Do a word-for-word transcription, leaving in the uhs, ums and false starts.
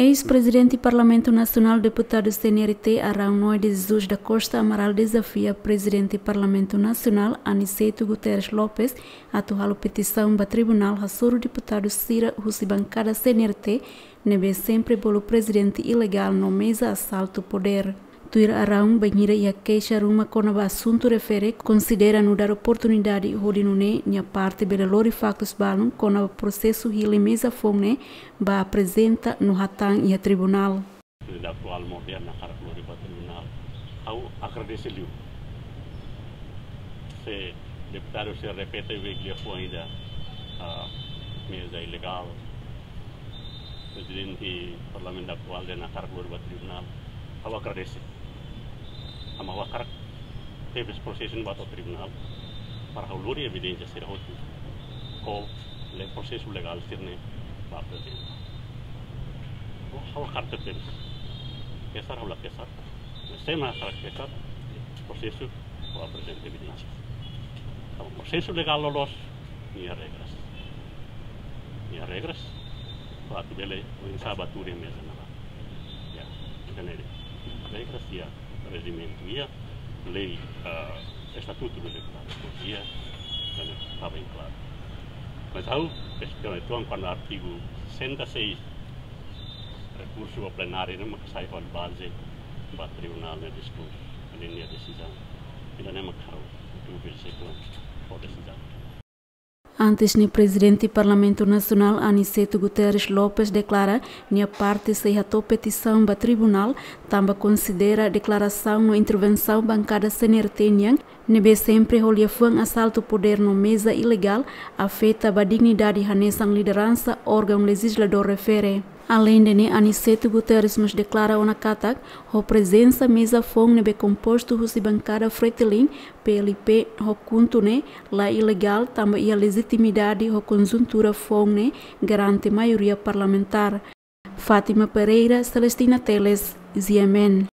Eis-Prezidente Parlamentu Nasionál, Deputadu C N R T, Araun Noé de Jesus da Costa Amaral dezafia Prezidente Parlamentu Nasionál, Aniceto Guterres Lopes, atu halo petisaun ba tribunál hasoru deputadu sira husi bankada C N R T, ne'ebé sempre bolu prezidente ilegál no meza asaltu podér. Tuir Araun, bainhira iha keixa ruma kona-ba asuntu refere, konsidera nu'udar oportunidade hodi nune'e nia parte bele lori faktus balun kona-ba prosesu hili meza foun ne'e ba aprezenta no hatán iha tribunál. Prezidente atuál moderna hakarak lori ba tribunál. Ha'u agradese liu. Se deputadu sira repete bele fó ida, ah, meza ilegál. Prezidente Parlamentu atuál dehan hakarak lori ba tribunál. Ha'u agradese. Ama ha'u hakarak tebes prosesu ne'e ba to'o tribunál para ha'u lori evidénsia sira hotu. Ho le prosesu legál sira-ne'e ba prezidente. Ha'u hakarak tebes. Kesar ha'u la kesar. Se ema hakarak kesar, prosesu, ha'u aprezenta evidénsia. Kalau prosesu legál loloos, nia regras. Nia regras, para atu bele oinsá ba tuur iha meza ne'ebá. Ya, ida-ne'e de'it. Regras iha rejimentu iha, lei, ah, estatutu do deputadu iha, ne'e tama bem klaru. Mas ha'u, es-, kona-ba artigu sessenta e seis, rekursu ba plenária ne'e mak sai fali baze ba tribunál nia diskursu, nia desizaun. Ida-ne'e mak ha'u, atu vizita ho desizaun. Antes ne'e, Prezidente Parlamentu Nasionál, Aniceto Guterres Lopes, deklara nia parte sei hato'o petisaun ba tribunál, tanba konsidera deklarasaun no intervensaun bankada C N R T nian, ne'ebé sempre ho liafuan asaltu podér no meza ilegál, afeta ba dignidade hanesan lideransa órgaun lejizladór refere. Aleinde ne'e, Aniceto Guterres mós deklara ona katak, ho prezensa meza foun ne'ebé kompostu husi bankada Fretilin, P L P, ho KHUNTO ne'e la ilegál, tanba iha lejitimidade ho konjuntura foun ne'e garante maioria parlamentár. Fátima Pereira, Celestina Teles, G M N.